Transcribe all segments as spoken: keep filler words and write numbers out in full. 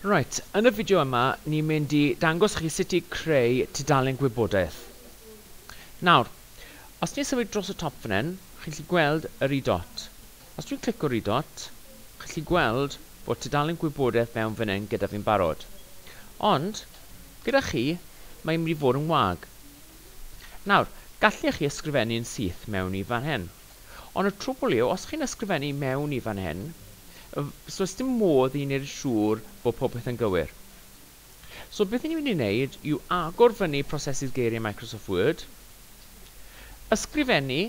Right, yn y fideo yma, ni'n mynd i dangos chi sut i creu tudalen gwybodaeth. Nawr, os ni'n symud dros y top fan hyn, chi'n gallu gweld yr i dot. Os dwi'n clico'r i dot, chi'n gallu gweld bod tudalen gwybodaeth mewn fan hyn gyda fi'n barod. Ond, gyda chi, mae'n mynd i fod yn wag. Nawr, gallech chi ysgrifennu'n syth mewn i fan hyn. Ond y trwbl yw, os chi'n ysgrifennu mewn i fan hyn, so oes dim modd i wneud yn siŵr bod popeth yn gywir. So beth ni'n mynd i wneud yw agor fyny prosesydd geiriau Microsoft Word, ysgrifennu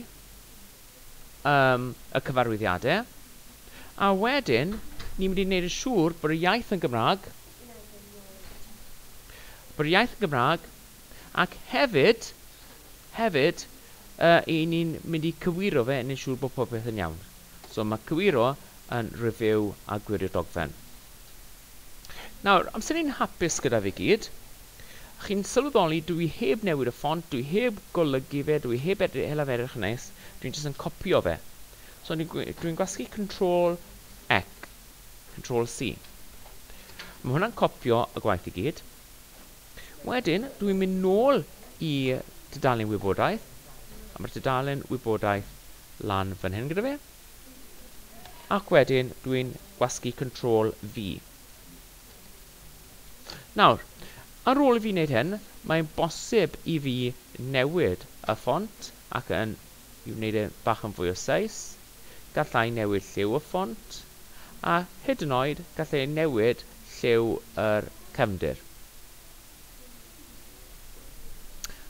um, y cyfarwyddiadau, a wedyn ni'n mynd i wneud yn siŵr bod y iaith yn Gymraeg, bod y iaith yn Gymraeg, ac hefyd, hefyd, uh, i ni'n mynd i cywiro fe yn siŵr bod popeth yn iawn. So mae cywiro yn review a gwirio dogfen. Nawr, amser ni'n hapus gyda fi gyd, chi'n sylweddoli dwi heb newid y ffont, dwi heb golygu fe, dwi heb edrych edrych yn neis, dwi'n jyst yn copio fe. So dwi'n dwi gwasgu Control C, Control C. Mae hwnna'n copio y gwaith i gyd. Wedyn, dwi'n mynd nôl i tudalen wybodaeth, a mae'r tudalen wybodaeth lan fan hyn gyda fi. Ac wedyn dwi'n gwasgu Control V. Nawr, ar ôl i fi wneud hyn, mae'n bosib i fi newid y ffont ac yn i wneud e bach yn fwy o seis. Gallai newid lliw y ffont a hyd yn oed gallai newid lliw yr cefndir.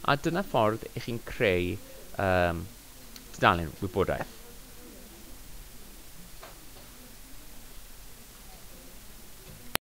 A dyna ffordd i chi'n creu um, tudalen wybodaeth.